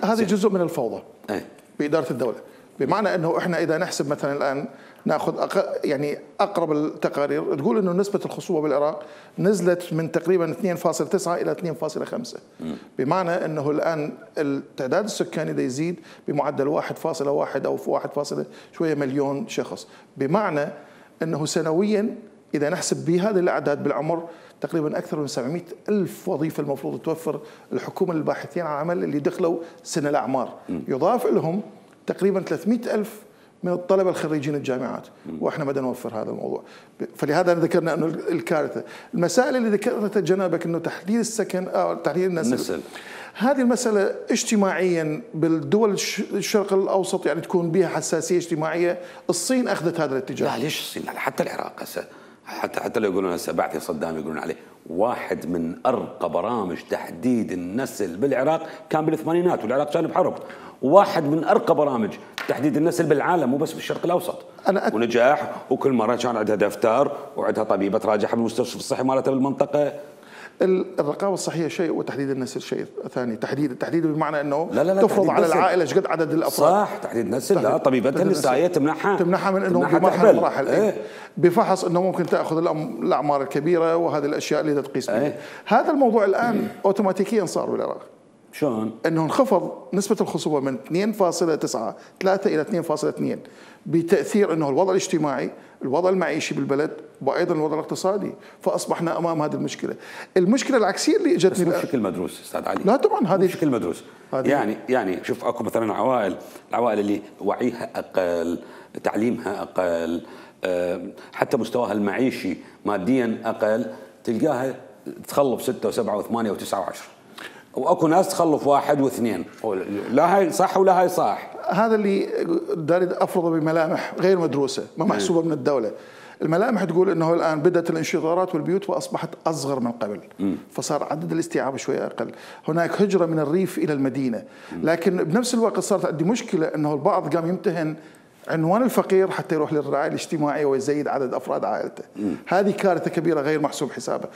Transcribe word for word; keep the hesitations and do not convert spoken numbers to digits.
هذه جزء من الفوضى أي. باداره الدوله، بمعنى انه احنا اذا نحسب مثلا الان ناخذ أق... يعني اقرب التقارير تقول انه نسبه الخصوبه بالعراق نزلت من تقريبا اثنين فاصلة تسعة الى اثنين فاصلة خمسة، بمعنى انه الان التعداد السكاني دا يزيد بمعدل واحد فاصلة واحد او واحد فاصلة شويه مليون شخص، بمعنى انه سنويا اذا نحسب بهذه الاعداد بالعمر تقريبا اكثر من سبعمئة الف وظيفه المفروض توفر الحكومه للباحثين عن عمل اللي دخلوا سن الاعمار، يضاف لهم تقريبا ثلاثمئة الف من الطلبه الخريجين الجامعات، واحنا بدنا نوفر هذا الموضوع، فلهذا ذكرنا انه الكارثه، المسائل اللي ذكرتها جنابك انه تحديد السكن او تحديد النسل, النسل. هذه المساله اجتماعيا بالدول الشرق الاوسط يعني تكون بها حساسيه اجتماعيه، الصين اخذت هذا الاتجاه. لا ليش الصين؟ حتى العراق هسه حتى حتى لو يقولون هسه بعثي صدام يقولون عليه واحد من ارقى برامج تحديد النسل بالعراق كان بالثمانينات والعراق كان بحرب، وواحد من ارقى برامج تحديد النسل بالعالم مو بس بالشرق الاوسط، أنا أت... ونجاح، وكل مره كان عندها دفتر وعندها طبيبه تراجعها بالمستشفى الصحي مالتها بالمنطقه. الرقابه الصحيه شيء وتحديد النسل شيء ثاني، تحديد التحديد بمعنى انه لا لا لا تفرض على العائله ايش قد عدد الافراد. صح، تحديد نسل، لا طبيبتها النسائيه تمنحها تمنحها من انه بمرحله مراحل ايه؟ بفحص انه ممكن تاخذ الاعمار الكبيره وهذه الاشياء اللي تقيس بها. ايه؟ هذا الموضوع الان اوتوماتيكيا صار بالعراق. شلون؟ انه انخفض نسبه الخصوبه من اثنين فاصلة تسعة ثلاثة الى اثنين فاصلة اثنين بتاثير انه الوضع الاجتماعي، الوضع المعيشي بالبلد، وايضا الوضع الاقتصادي، فاصبحنا امام هذه المشكله. المشكله العكسيه اللي اجتني بس مو بشكل مدروس استاذ علي. لا طبعا هذه بشكل مدروس. يعني يعني شوف اكو مثلا عوائل، العوائل اللي وعيها اقل، تعليمها اقل، حتى مستواها المعيشي ماديا اقل، تلقاها تخلف ستة وسبعة وثمانية وتسعة وعشرة. واكو ناس تخلف واحد واثنين، لا هاي صح ولا هاي صح. هذا اللي داري افرضه بملامح غير مدروسه، ما محسوبه من الدوله. الملامح تقول انه الان بدات الانشطارات والبيوت واصبحت اصغر من قبل، م. فصار عدد الاستيعاب شويه اقل، هناك هجره من الريف الى المدينه، لكن بنفس الوقت صارت عندي مشكله انه البعض قام يمتهن عنوان الفقير حتى يروح للرعايه الاجتماعيه ويزيد عدد افراد عائلته. م. هذه كارثه كبيره غير محسوب حسابها.